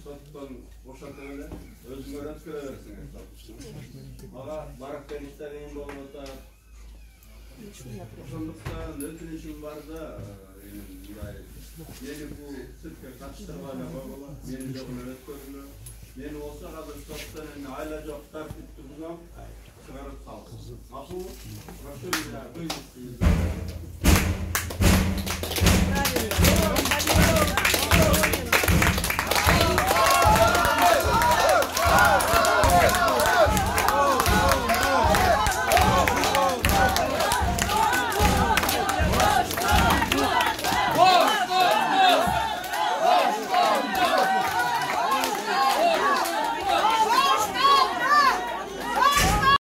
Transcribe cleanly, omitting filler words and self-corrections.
соттон бошотуп эле өзүңөр өткөрө берсиңер. Мага барак бериште кыйын болуп атат. Ошондуктан өтүнүшүм бар да, мындай мени бул циркке катыштырбай эле койгула, мени жок эле өткөрүлө. Мени болсо азыр соттон айла жок тартипти бузам, чыгарып салсын. Макулбу? Ошо эле